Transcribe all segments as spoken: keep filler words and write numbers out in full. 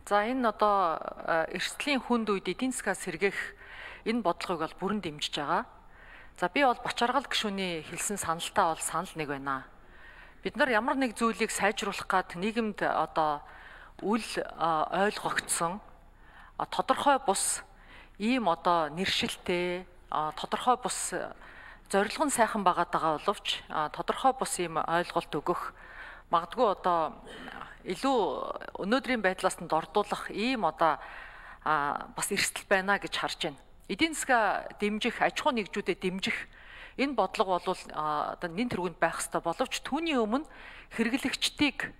За энэ одоо эрсдлийн хүнд үед эдийн засгаас сэргээх энэ бодлогыг бол бүрэн дэмжиж байгаа. За би бол Бочаргал гишүүний хэлсэн саналтаа бол санал нэг байна. Бид нар ямар нэг зүйлийг сайжруулах гад нийгэмд одоо үл ойлгогдсон тодорхой бус ийм одоо нэршилтэй тодорхой бус зорилго нь сайхан байгаад байгаа боловч тодорхой бус ийм ойлголт өгөх магадгүй одоо илүү өнөөдрийн байдлаас нь дордуулах ийм одоо бас эрсдэл байна гэж харж байна. Эдийн засгаа дэмжих, аж ахуй нэгжүүдэд дэмжих энэ бодлого бол одоо нэн тэргуунд байх ёстой боловч түүний өмнө хэрэглэгчдийг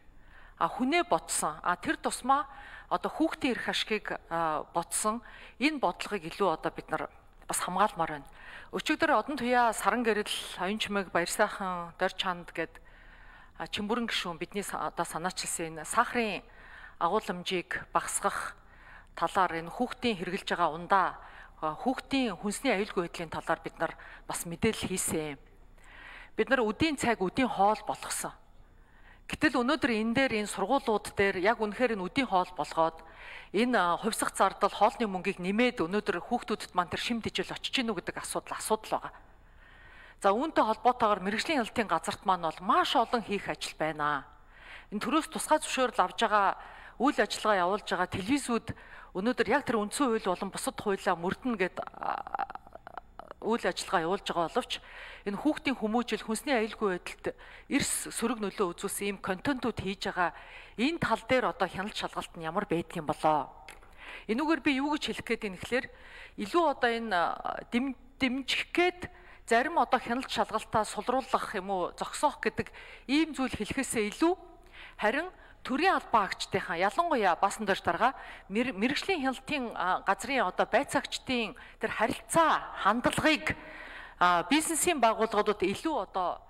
хүнээ ботсон тэр тусмаа одоо хүүхдийн эрх ашгийг ботсон энэ бодлогыг илүү одоо бид нар бас хамгаалмаар байна. Өчигдөр одон туяа Саран гэрэл, Оюн чимэг, Баяр сайхан, Дорь чанд гэд Чимбүрэн гишүүн бидний одоо санаачилсан энэ сахарын агуулмжийг багасгах талаар энэ хүүхдийн хэрэгжилж байгаа ундаа хүүхдийн хүнсний аюулгүй байдлын талаар бид нар бас мэдээлэл хийсэн. Бид нар үдийн цаг, үдийн хоол болгосон. Гэтэл өнөөдөр энэ дээр энэ сургуулиуд дээр яг үнэхээр энэ үдийн хоол болгоод энэ хувьсах зардал хоолны мөнгийг нэмээд өнөөдөр хүүхдүүдэд маань тэр шим тэжээл очиж гинүү гэдэг асуудал асуудал байгаа. За үүнтэй холбоотойгоор мэрэгжлийн хяналтын газарт маань бол маш олон хийх ажил байна. Энэ төрөөс тусгай зөвшөөрөл авж байгаа үйл ажиллагаа явуулж байгаа телевизүүд өнөөдөр яг тэр үндсэн хууль болон бусад хуулиа мөрдөн гэд үйл ажиллагаа явуулж байгаа боловч энэ хүүхдийн хүмүүжил, хүнсний аюулгүй байдалд эрс сөрөг нөлөө үзүүлсэн ийм контентууд хийж байгаа энэ тал дээр одоо хяналт шалгалт нь ямар байдаг юм болоо. Энүүгээр би юу гэж хэлэх гээд юм гэхээр илүү одоо энэ дэмжих гээд зарим одоо хяналт шалгалтаа сулруулах юм уу зогсоох гэдэг ийм зүйл хэлэхээсээ илүү харин төрийн албан агчдынхаа ялангуяа баасан дөрж дарга мэрэгжлийн хяналтын газрын одоо байцаагчдын тэр харилцаа хандлагыг бизнесийн байгууллагуудад илүү одоо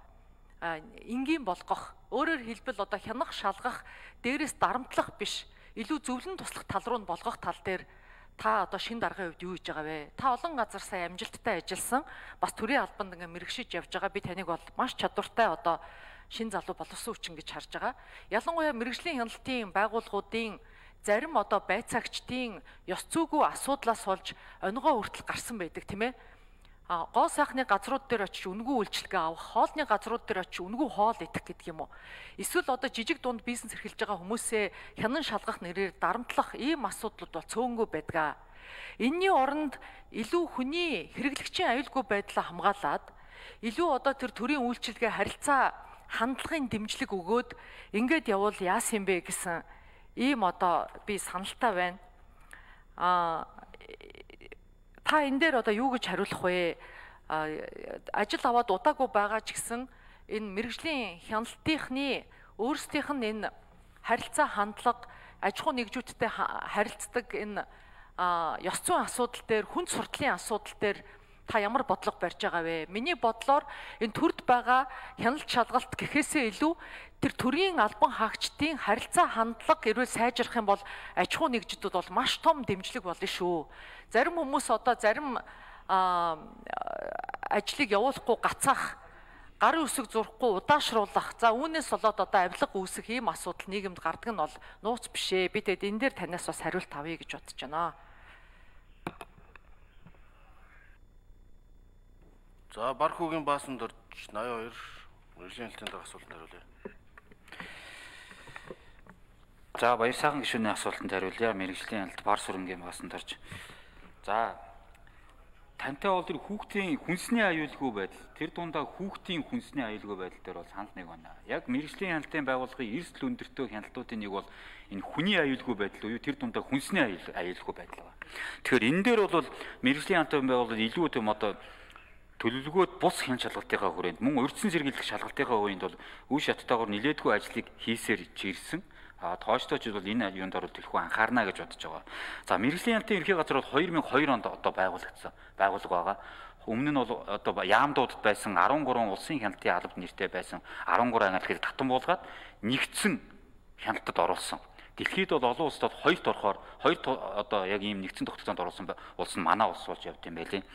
энгийн болгох өөрөөр хэлбэл одоо хянах шалгах дээрээс дарамтлах биш илүү зөвлөн туслах тал руу нь болгох тал дээр та одоо шинэ даргын хувьд юу хийж байгаа вэ? Та олон газар сая амжилттай ажилласан бас төрийн албанд ингээ мэрэгшиж явж байгаа би таныг бол маш чадвартай одоо шин залуу боловсон хүчин гэж харж байгаа. Ялангуяа мэрэгжлийн хяналтын байгууллагуудын зарим одоо байцаагчдын ёс зүйгүй асуудлаас болж онигоо хүртэл гарсан байдаг тийм ээ. А гоо сайхны газрууд дээр очиж үнгүй үйлчлэгээ авах, хоолны газрууд дээр очиж үнгүй хоол идэх гэдэг юм уу? Эсвэл одоо жижиг дунд бизнес эрхэлж байгаа хүмүүсээ хянан шалгах нэрээр дарамтлах ийм асуудлууд бол цөөнгүй байдаг. Энийний оронд илүү хүний хэрэглэгчийн аюулгүй байдлаа хамгаалаад илүү одоо тэр төрийн үйлчлэгээ харилцаа хандлагын дэмжлэг өгөөд ингээд явбал яасан бэ гэсэн ийм одоо би саналтай байна. А та энэ дээр одоо юу гэж хариулах вэ? Ажил аваад удаагүй байгаа ч гэсэн энэ мэрэгжлийн хяналтынхны өөрсдийнх нь энэ харилцаа хандлага, аж ахуй нэгжүүдтэй харилцдаг энэ ёс зүйн асуудал дээр, хүнд суртлын асуудал дээр та ямар бодлого барьж байгаа вэ? Миний бодлоор энэ төрд байгаа хяналт шалгалт гэхээсээ илүү тэр төрийн албан хаагчдын харилцаа хандлага эрүүл сайжрах юм бол аж ахуй нэгжидүүд бол маш том дэмжлэг болно шүү. Зарим хүмүүс одоо зарим ажлыг явуулахгүй гацаах, гарын үсэг зурхгүй удаашруулах, за үүнээс болоод одоо авилга үүсэх ийм асуудал нийгэмд гардаг нь бол нууц биш ээ. Би тэгэд энэ дээр танаас бас хариулт авъя гэж бодож байна. За Бархуугийн Баасан Дорж ноён хоёр мэрэгжлийн хяналтын дах асуултанд хариулъя. За Баяр сайхан гишүүний асуултанд хариулъя. Мэрэгжлийн хяналт Бар сүрэнгийн Баасан Дорж. За тантай бол тэр хүүхдийн хүнсний аюулгүй байдал, тэр дундаа хүүхдийн хүнсний аюулгүй байдал дээр бол санал нэг байна. Яг мэрэгжлийн хяналтын байгууллагын эрсдэл өндөртэй хяналтуудын нэг бол энэ хүний аюулгүй байдал уу, тэр дундаа хүнсний аюулгүй байдал байна. Тэгэхээр энэ дээр бол мэрэгжлийн хяналтын байгууллага илүү тийм одоо төлөвлөгөөд бус хяналт шалгалтынхаа хүрээнд мөн урьдчилан сэргийлэх шалгалтынхаа үеинд бол үе шаттайгаар нилээдгүй ажлыг хийсээр ирсэн. А тоочтой ч бол энэ юунд орол төлхөө анхаарна гэж бодож байгаа. За мэрэгжлийн хяналтын ерхий газар бол хоёр мың хоёр онд одоо байгуулагдсан байгууллага байгаа. Өмнө нь бол одоо Яамдуудад байсан арван гурван улсын хяналтын албад нэртэй байсан арван гурван ангилалыг татан буулгаад нэгдсэн хяналтад оруулсан. Дэлхийд бол олон улсад хоёрт орохоор хоёр одоо яг ийм нэгдсэн тогтолцоонд оруулсан улс нь манай улс болж явд юм байлээ.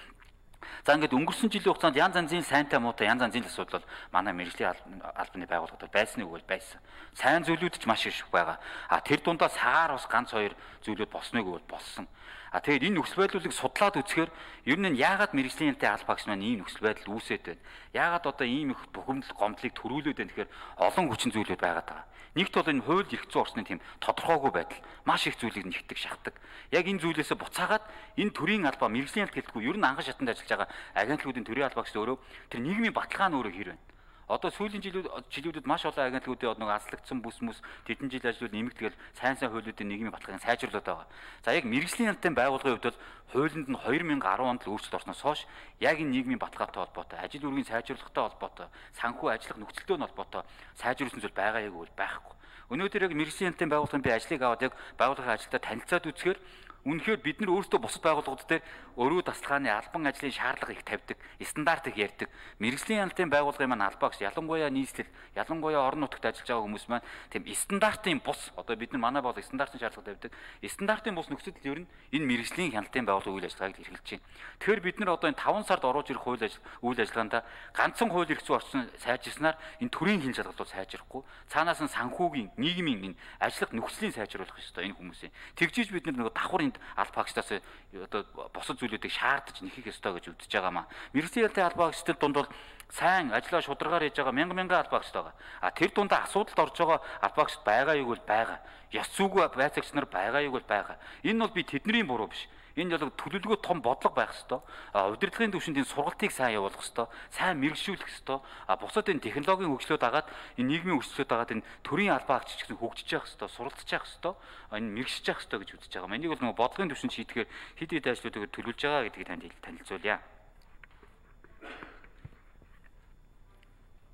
За ингээд өнгөрсөн жилийн хугацаанд янз янзын сайнтай муутай янз янзын асуудал бол манай мэргэжлийн албаны байгууллагууд байсан үг бол байсан. Сайн зүйлүүд ч маш их байгаа. А тэр дундаа сагаар бас ганц хоёр зүйлүүд босныг бол болсон. А тэгээд энэ нөхцөл байдлыг судлаад үзэхээр ер нь яагаад мэргэжлийн албан багш маань ийм нөхцөл байдал үүсээд байна? Яагаад одоо ийм их бухимдал гомдлыг төрүүлээд байна гэхээр олон хүчин зүйлүүд байгаад байгаа. Нэгт бол энэ хууль эрх зүйн орчны тийм тодорхойгүй байдал маш их зүйлийг нэгтгэж шахдаг. Яг энэ зүйлээс буцаагаад энэ төрийн албаа мэргэжлийн албан гэлтгүй ер нь анган шатанд ажиллаж байгаа агентлагуудын төрийн албаа гэж өөрөө тэр нийгмийн баталгаа нь өөрөө хэр байна. Одоо сүүлийн жилүүд жилүүдэд маш олон агентлагуудын нэг азлагдсан бүс мүс тэдэн жил ажлууд нэмэгдгээл сайн сайн хуулиудын нийгмийн баталгааг сайжруулад байгаа. За яг мэргэжлийн албан байгууллагын хувьд бол хуулинд нь две тысячи десять онд л өөрчлөлт орсноос хойш яг энэ нийгмийн баталгаатай холбоотой, ажил үргийн сайжруулахтай холбоотой, санхүү ажиллах нөхцөлтэй холбоотой сайжруулсан зүйл байгаа яг үл байхгүй. Өнөөдөр яг мэргэжлийн албан байгууллагын би ажлыг аваад яг байгууллагын ажилдаа танилцаад үзэхээр үнэхээр бид нар өөрсдөө бусад байгууллагууд дээр өрөө тасалгааны албан ажлын шаардлага их тавьдаг, стандарт их ярьдаг. Мэргэжлийн албан байгууллагын маань албаагч ялангуяа нийслэл, ялангуяа орон нутагт ажиллаж байгаа хүмүүс маань тийм стандартын бус одоо бид нар манай бол стандартын шаардлага тавьдаг. Стандартын бус нөхцөлд ер нь энэ мэргэжлийн хяналтын байгууллагын үйл ажиллагааг эрхэлж байна. Тэгэхээр бид нар одоо энэ таван сард оруулж ирэх хууль ажил үйл ажиллагаанд ганцхан хууль эрх зүйн орчин сайжирснаар энэ төрийн хин шалгалт бол сайжрахгүй. Цаанаас нь санхүүгийн, нийгмийн энэ ажиллах нөхцөлийг сайжруулах ёстой энэ хүмүүсийн. Тэгжиж бид нар нэг давхар албан багштаас одоо босод зүйлүүдийг шаардаж нэхэх ёстой гэж үзэж байгаамаа. Мэргэжлийн албан багштад дунд бол сайн ажиллаа шударгаар хийж байгаа мянган мянган албан багш байгаа. А тэр дундаа асуудалд орж байгаа албан багш байгаа юу гэвэл байгаа. Ёс зүйгүй байцаагч нар байгаа юу гэвэл байгаа. Энэ бол би тэдний буруу биш. Энэ бол төлөвлөгөө том бодлого байх ёстой. Удирдлагын түвшинд энэ сургалтыг сайн явуулах ёстой. Сайн мэргэжшүүлэх ёстой. А бусад энэ технологийн хөгжлөд дагаад энэ нийгмийн хөгжлөд дагаад энэ төрийн албан агч гэсэн хөгжиж явах ёстой, суралцж явах ёстой, энэ мэргэжж явах ёстой гэж үзэж байгаа. Энийг бол нөгөө бодлогын түвшинд шийдэхээр хэд хэд ажлуудыг төлөвлөж байгаа гэдгийг танд танилцуулъя.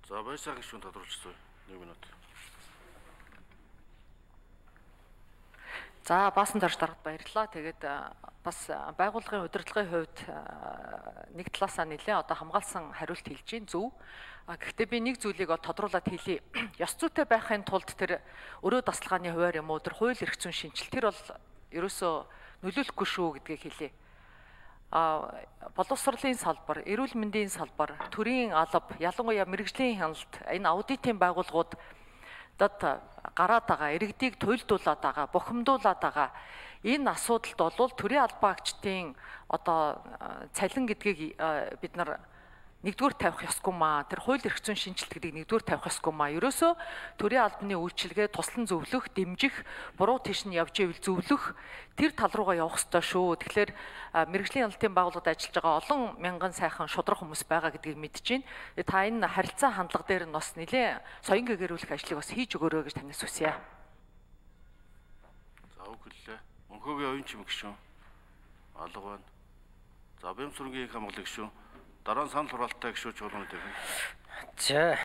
За баясаа гişүн тодорхойлчихсон. нэг минут. За баасан дарж даргад баярлалаа. Тэгээд бас байгууллагын удирдлагын хувьд нэг талаасаа нэлээ одоо хамгаалсан хариулт хэлж гин зөв. Гэхдээ би нэг зүйлийг тодруулаад хэлье. Ёс зүйтэй байхын тулд тэр өрөө тасалгааны хуваар юм уу тэр хууль эрх зүйн шинжилэл тэр бол ерөөсөө нөлөөлөхгүй шүү гэдгийг хэлье. А боловсролын салбар, эрүүл мэндийн салбар, төрийн алба, ялангуяа мэргэжлийн хяналт, энэ аудитын байгууллагууд дад гараад байгаа, иргэдийг туйлдуулаад байгаа, бухимдуулаад байгаа. Энэ асуудалд бол төрийн албан агчдын одоо цалин гэдгийг бид нар нэгдүгээр тавих ёсгүй маа. Тэр хууль эрх зүйн шинжилт гэдгийг нэгдүгээр тавих ёсгүй маа. Ерөөсөө төрийн албаны үйлчилгээ туслан зөвлөх, дэмжих, буруу тийш нь явж ивэл зөвлөх тэр тал руугаа явах ёстой шүү. Тэгэхээр мэргэжлийн хяналтын байгууллагад ажиллаж байгаа олон мянган сайхан шудраг хүмүүс байгаа гэдгийг мэдэж байна. Та энэ харилцаа хандлага дээр нь бас нэлээ соён гэгэрүүлэх ажлыг бас хийж өгөөрэй гэж танаас хүсье. За үг хэллээ. Өнхөөгийн оюун чим гişүн. Алга байна. За бямсургийн хамгаалах гişүн. Дараа нь санал хураалттай гişүү чуулганы дээр. За